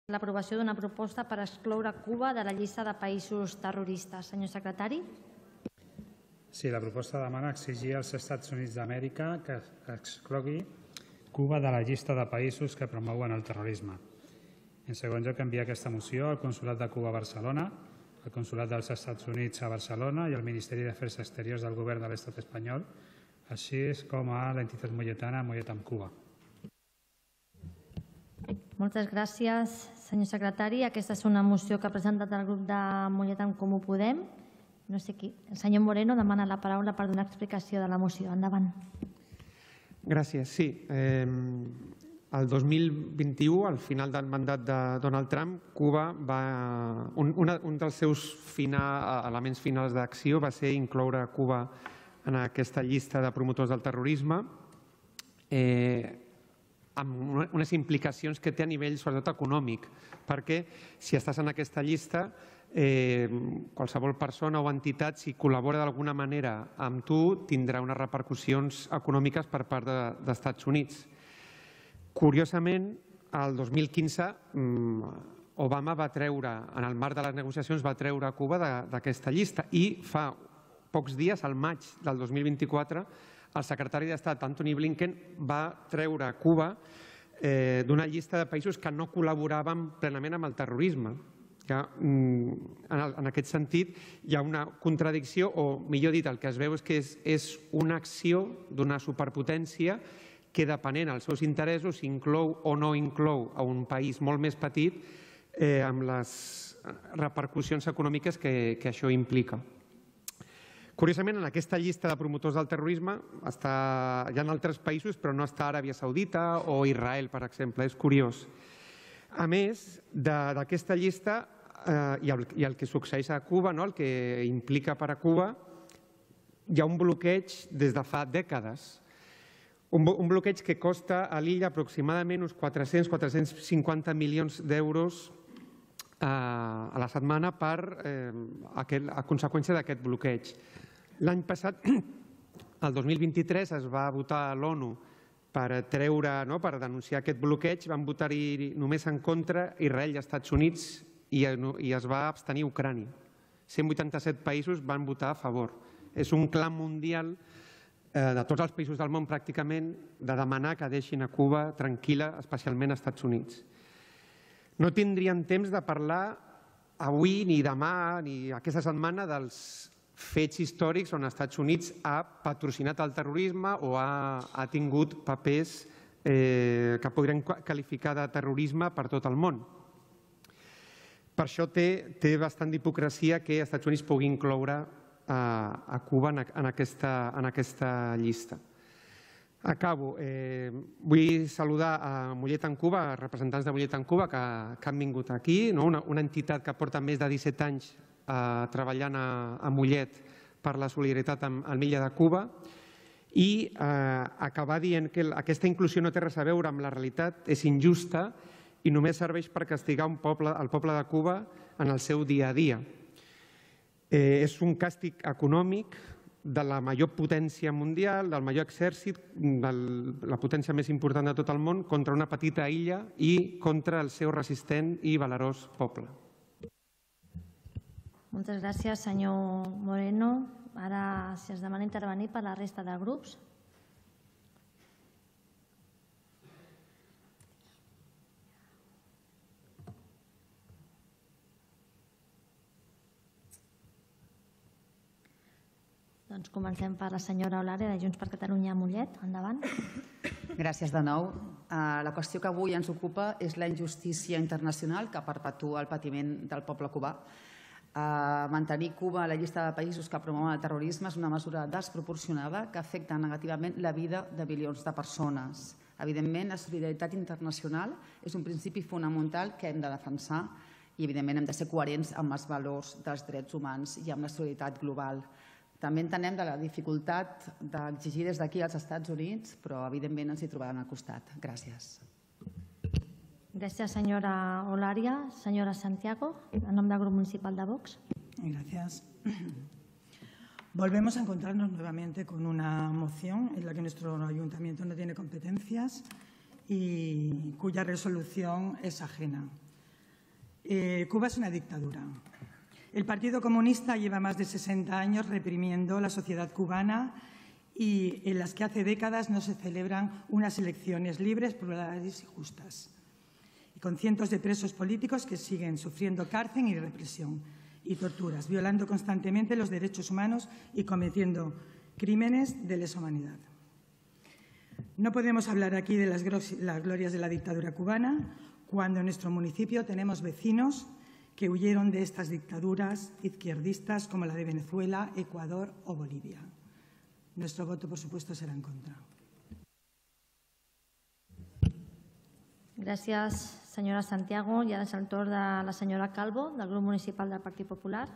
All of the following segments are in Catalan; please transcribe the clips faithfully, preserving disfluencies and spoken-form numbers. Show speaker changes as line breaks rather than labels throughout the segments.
l'aprovació d'una proposta per excloure Cuba de la llista de països terroristes. Senyor secretari.
Sí, la proposta demana exigir als Estats Units d'Amèrica que exclogui Cuba de la llista de països que promouen el terrorisme. En segon lloc, enviar aquesta moció al Consolat de Cuba a Barcelona, al Consolat dels Estats Units a Barcelona i al Ministeri d'Afers Exteriors del Govern de l'Estat espanyol, així com a l'entitat molletana Mollet amb Cuba.
Moltes gràcies, senyor secretari. Aquesta és una moció que ha presentat el grup de Mollet en Comú Podem. No sé qui. El senyor Moreno demana la paraula per donar explicació de la moció. Endavant.
Gràcies. Sí. El dos mil vint-i-u, al final del mandat de Donald Trump, Cuba va... Un dels seus elements finals d'acció va ser incloure Cuba en aquesta llista de promotors del terrorisme, amb unes implicacions que té a nivell, sobretot, econòmic, perquè si estàs en aquesta llista, qualsevol persona o entitat, si col·labora d'alguna manera amb tu, tindrà unes repercussions econòmiques per part d'Estats Units. Curiosament, el dos mil quinze, Obama va treure, en el marc de les negociacions, va treure Cuba d'aquesta llista i fa pocs dies, al maig del dos mil vint-i-quatre, el secretari d'Estat, Antony Blinken, va treure Cuba d'una llista de països que no col·laboraven plenament amb el terrorisme. En aquest sentit, hi ha una contradicció, o millor dit, el que es veu és que és una acció d'una superpotència que, depenent dels seus interessos, inclou o no inclou a un país molt més petit amb les repercussions econòmiques que això implica. Curiosament, en aquesta llista de promotors del terrorisme hi ha altres països, però no està Aràbia Saudita o Israel, per exemple. És curiós. A més d'aquesta llista i el que succeeix a Cuba, el que implica per a Cuba, hi ha un bloqueig des de fa dècades. Un bloqueig que costa a l'illa aproximadament uns quatre-cents a quatre-cents cinquanta milions d'euros a la setmana a conseqüència d'aquest bloqueig. L'any passat, el dos mil vint-i-tres, es va votar a l'ONU per treure, per denunciar aquest bloqueig. Van votar-hi només en contra Israel i Estats Units i es va abstenir Ucrània. cent vuitanta-set països van votar a favor. És un clam mundial de tots els països del món, pràcticament, de demanar que deixin a Cuba tranquil·la, especialment als Estats Units. No tindríem temps de parlar avui, ni demà, ni aquesta setmana dels fets històrics on els Estats Units ha patrocinat el terrorisme o ha tingut papers que podrien qualificar de terrorisme per tot el món. Per això té bastant d'hipocresia que els Estats Units pugui incloure a Cuba en aquesta llista. Acabo. Vull saludar a Mollet en Cuba, a representants de Mollet en Cuba que han vingut aquí, una entitat que porta més de disset anys treballant a Mollet per la solidaritat amb l'illa de Cuba, i acabar dient que aquesta inclusió no té res a veure amb la realitat, és injusta i només serveix per castigar el poble de Cuba en el seu dia a dia. És un càstig econòmic de la major potència mundial, del major exèrcit, de la potència més important de tot el món, contra una petita illa i contra el seu resistent i valerós poble.
Moltes gràcies, senyor Moreno. Ara, si es demana intervenir per la resta de grups. Doncs comencem per la senyora Eulàlia, de Junts per Catalunya a Mollet. Endavant.
Gràcies de nou. La qüestió que avui ens ocupa és la injustícia internacional que perpetua el patiment del poble cubà. Mantenir Cuba a la llista de països que promouen el terrorisme és una mesura desproporcionada que afecta negativament la vida de milions de persones. Evidentment, la solidaritat internacional és un principi fonamental que hem de defensar i, evidentment, hem de ser coherents amb els valors dels drets humans i amb la solidaritat global. També entenem de la dificultat d'exigir des d'aquí als Estats Units, però evidentment ens hi trobaran al costat. Gràcies.
Gràcies, senyora Eulàlia. Senyora Santiago, en nom del Grup Municipal de Vox.
Gracias. Volvemos a encontrarnos nuevamente con una moción en la que nuestro ayuntamiento no tiene competencias y cuya resolución es ajena. Eh, Cuba es una dictadura. El Partido Comunista lleva más de sesenta años reprimiendo la sociedad cubana y en las que hace décadas no se celebran unas elecciones libres, plurales y justas. Y con cientos de presos políticos que siguen sufriendo cárcel y represión y torturas, violando constantemente los derechos humanos y cometiendo crímenes de lesa humanidad. No podemos hablar aquí de las glorias de la dictadura cubana cuando en nuestro municipio tenemos vecinos que huyeron de estas dictaduras izquierdistas como la de Venezuela, Ecuador o Bolivia. Nuestro voto, por supuesto, será en contra.
Gràcies, senyora Santiago. I ara és el torn de la senyora Calvo, del grup municipal del Partit Popular.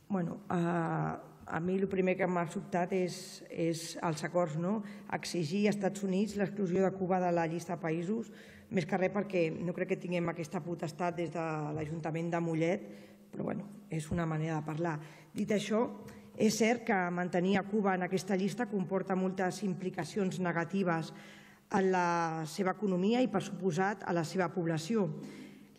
Bueno, a, a mi el primer que m'ha sobtat és, és els acords, no? Exigir als Estats Units l'exclusió de Cuba de la llista de països, més que res perquè no crec que tinguem aquesta potestat des de l'Ajuntament de Mollet, però bueno, és una manera de parlar. Dit això, és cert que mantenir a Cuba en aquesta llista comporta moltes implicacions negatives en la seva economia i, per suposat, a la seva població.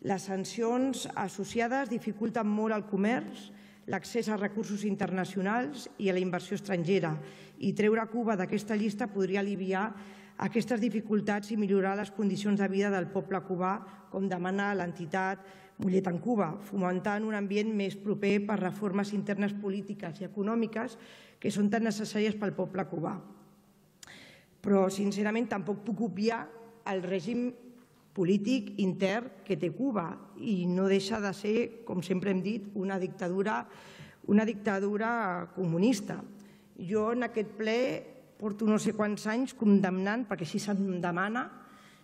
Les sancions associades dificulten molt el comerç, l'accés a recursos internacionals i a la inversió estrangera, i treure Cuba d'aquesta llista podria aliviar aquestes dificultats i millorar les condicions de vida del poble cubà, com demana l'entitat Mollet en Cuba, fomentant un ambient més proper per reformes internes polítiques i econòmiques que són tan necessàries pel poble cubà. Però, sincerament, tampoc puc obviar el règim polític intern que té Cuba i no deixa de ser, com sempre hem dit, una dictadura, una dictadura comunista. Jo en aquest ple porto no sé quants anys condemnant, perquè així se'm demana,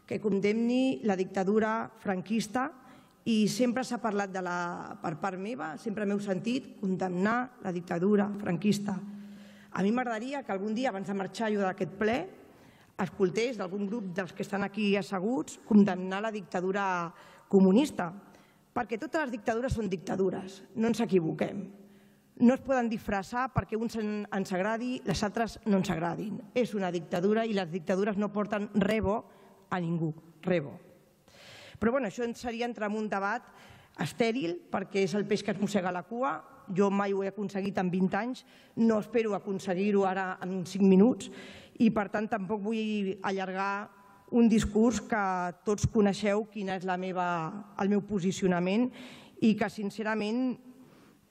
que condemni la dictadura franquista i sempre s'ha parlat de la, per part meva, sempre m'heu sentit condemnar la dictadura franquista. A mi m'agradaria que algun dia, abans de marxar jo d'aquest ple, escoltés d'algun grup dels que estan aquí asseguts condemnar la dictadura comunista, perquè totes les dictadures són dictadures, no ens equivoquem. No es poden disfressar perquè uns ens agradi, les altres no ens agradin. És una dictadura i les dictadures no porten res bo a ningú, res bo. Però bueno, això seria entrar en un debat estèril perquè és el peix que es mossega la cua. Jo mai ho he aconseguit en vint anys, no espero aconseguir-ho ara en cinc minuts i per tant tampoc vull allargar un discurs que tots coneixeu quin és la meva, el meu posicionament i que sincerament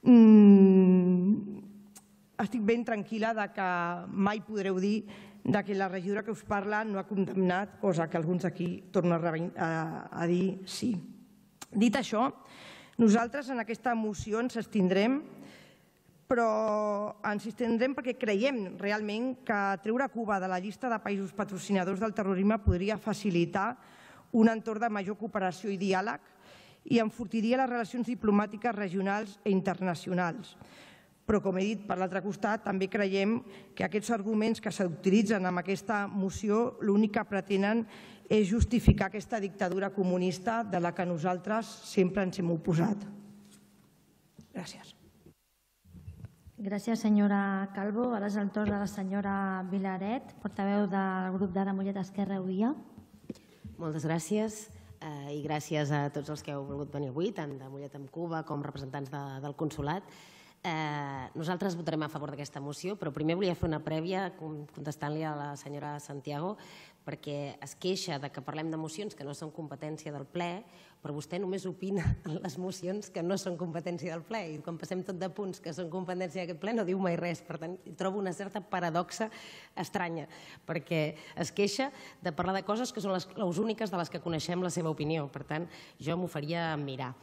mmm, estic ben tranquil·la de que mai podreu dir que la regidora que us parla no ha condemnat, cosa que alguns aquí tornen a dir sí. Dit això, nosaltres en aquesta moció ens abstindrem, però ens abstindrem perquè creiem realment que treure Cuba de la llista de països patrocinadors del terrorisme podria facilitar un entorn de major cooperació i diàleg i enfortiria les relacions diplomàtiques regionals i internacionals. Però, com he dit, per l'altre costat, també creiem que aquests arguments que s'utilitzen en aquesta moció l'únic que pretenen és justificar aquesta dictadura comunista de la que nosaltres sempre ens hem oposat. Gràcies.
Gràcies, senyora Calvo. Ara és el torn de la senyora Vilaret, portaveu del grup d'Ara Mollet Esquerra Unida.
Moltes gràcies i gràcies a tots els que heu volgut venir avui, tant de Mollet amb Cuba com representants del consolat. Nosaltres votarem a favor d'aquesta moció, però primer volia fer una prèvia contestant-li a la senyora Santiago, perquè es queixa que parlem de mocions que no són competència del ple, però vostè només opina en les mocions que no són competència del ple, i quan passem tot de punts que són competència d'aquest ple no diu mai res. Per tant, trobo una certa paradoxa estranya, perquè es queixa de parlar de coses que són les úniques de les que coneixem la seva opinió. Per tant, jo m'ho faria mirar.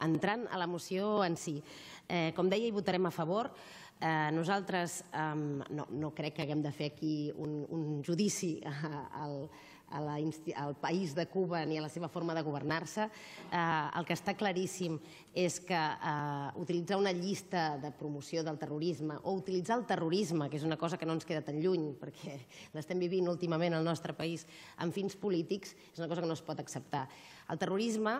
Entrant a la moció en si, com deia, hi votarem a favor. Nosaltres no crec que haguem de fer aquí un judici al país de Cuba ni a la seva forma de governar-se. El que està claríssim és que utilitzar una llista de promoció del terrorisme o utilitzar el terrorisme, que és una cosa que no ens queda tan lluny perquè l'estem vivint últimament al nostre país amb fins polítics, és una cosa que no es pot acceptar. El terrorisme,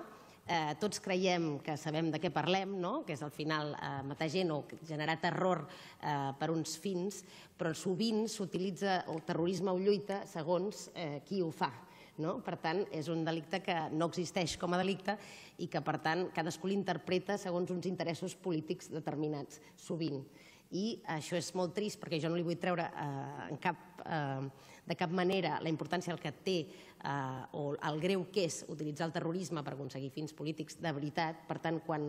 tots creiem que sabem de què parlem, que és al final matar gent o generar terror per uns fins, però sovint s'utilitza el terrorisme o lluita segons qui ho fa. Per tant, és un delicte que no existeix com a delicte i que, per tant, cadascú l'interpreta segons uns interessos polítics determinats, sovint. I això és molt trist perquè jo no li vull treure de cap manera la importància que té o el greu que és utilitzar el terrorisme per aconseguir fins polítics de veritat. Per tant, quan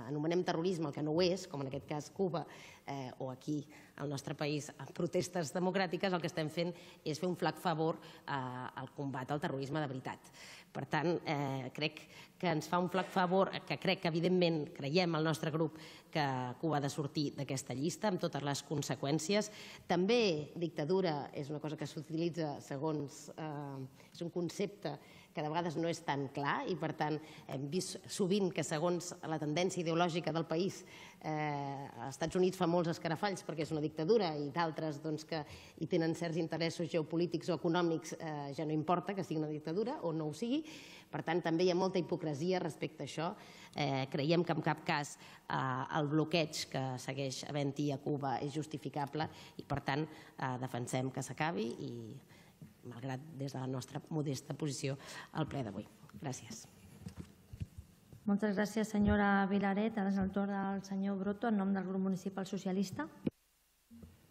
anomenem terrorisme el que no ho és, com en aquest cas Cuba o aquí al nostre país protestes democràtiques, el que estem fent és fer un flac favor al combat al terrorisme de veritat. Per tant, crec que ens fa un flac favor, que crec que evidentment creiem al nostre grup que Cuba ha de sortir d'aquesta llista amb totes les conseqüències. També dictadura és una cosa que s'utilitza segons... és un concepte que de vegades no és tan clar i, per tant, hem vist sovint que segons la tendència ideològica del país, als Estats Units fa molts escarafalls perquè és una dictadura i d'altres que hi tenen certs interessos geopolítics o econòmics ja no importa que sigui una dictadura o no ho sigui. Per tant, també hi ha molta hipocresia respecte a això. Creiem que en cap cas el bloqueig que segueix havent-hi a Cuba és justificable i, per tant, defensem que s'acabi i, malgrat des de la nostra modesta posició, al ple d'avui. Gràcies.
Moltes gràcies, senyora Vilaret. Ara és el torn del senyor Broto, en nom del grup municipal socialista.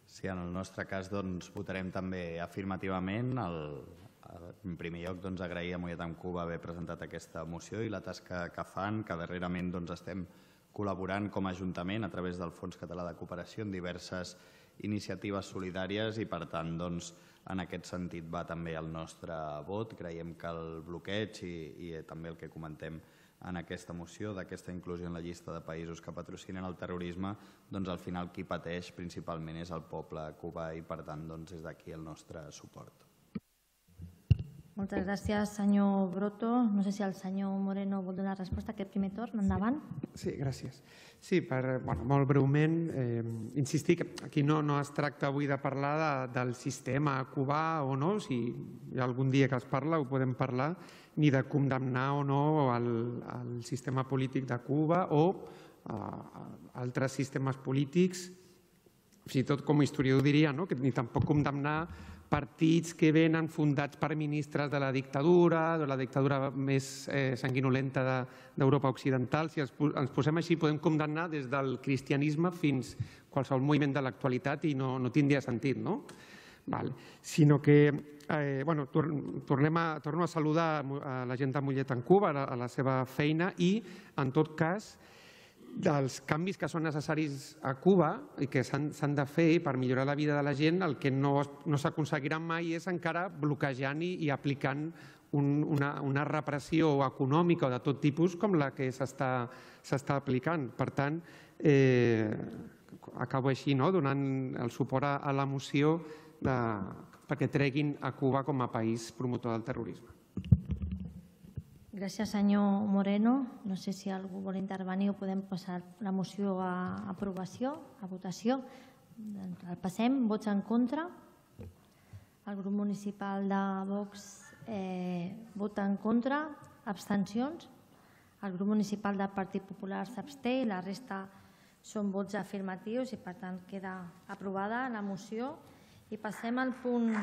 Sí, en el nostre cas votarem també afirmativament. En primer lloc, agrair a Mollet amb Cuba haver presentat aquesta moció i la tasca que fan, que darrerament estem col·laborant com a Ajuntament a través del Fons Català de Cooperació en diverses iniciatives solidàries i, per tant, en aquest sentit va també el nostre vot. Creiem que el bloqueig i també el que comentem en aquesta moció d'aquesta inclusió en la llista de països que patrocinen el terrorisme, doncs al final qui pateix principalment és el poble cubà i, per tant, des d'aquí el nostre suport.
Moltes gràcies, senyor Broto. No sé si el senyor Moreno vol donar resposta a aquest primer torn. Endavant.
Sí, gràcies. Sí, molt breument, insistir que aquí no es tracta avui de parlar del sistema cubà o no, si hi ha algun dia que es parla ho podem parlar, ni de condemnar o no el sistema polític de Cuba o altres sistemes polítics, fins i tot com a historiador diria, ni tampoc condemnar partits que venen fundats per ministres de la dictadura, de la dictadura més sanguinolenta d'Europa Occidental. Si ens posem així podem condemnar des del cristianisme fins a qualsevol moviment de l'actualitat i no tindria sentit, no? Sinó que torno a saludar la gent de Mollet en Cuba, a la seva feina i, en tot cas, dels canvis que són necessaris a Cuba i que s'han de fer per millorar la vida de la gent, el que no s'aconseguirà mai és encara bloquejant i aplicant una repressió econòmica o de tot tipus com la que s'està aplicant. Per tant, acabo així, donant el suport a la moció perquè treguin a Cuba com a país promotor del terrorisme.
Gràcies, senyor Moreno. No sé si algú vol intervenir o podem passar la moció a aprovació, a votació. El passem. Vots en contra. El grup municipal de Vox vota en contra. Abstencions. El grup municipal del Partit Popular s'absté i la resta són vots afirmatius i, per tant, queda aprovada la moció. I passem al punt...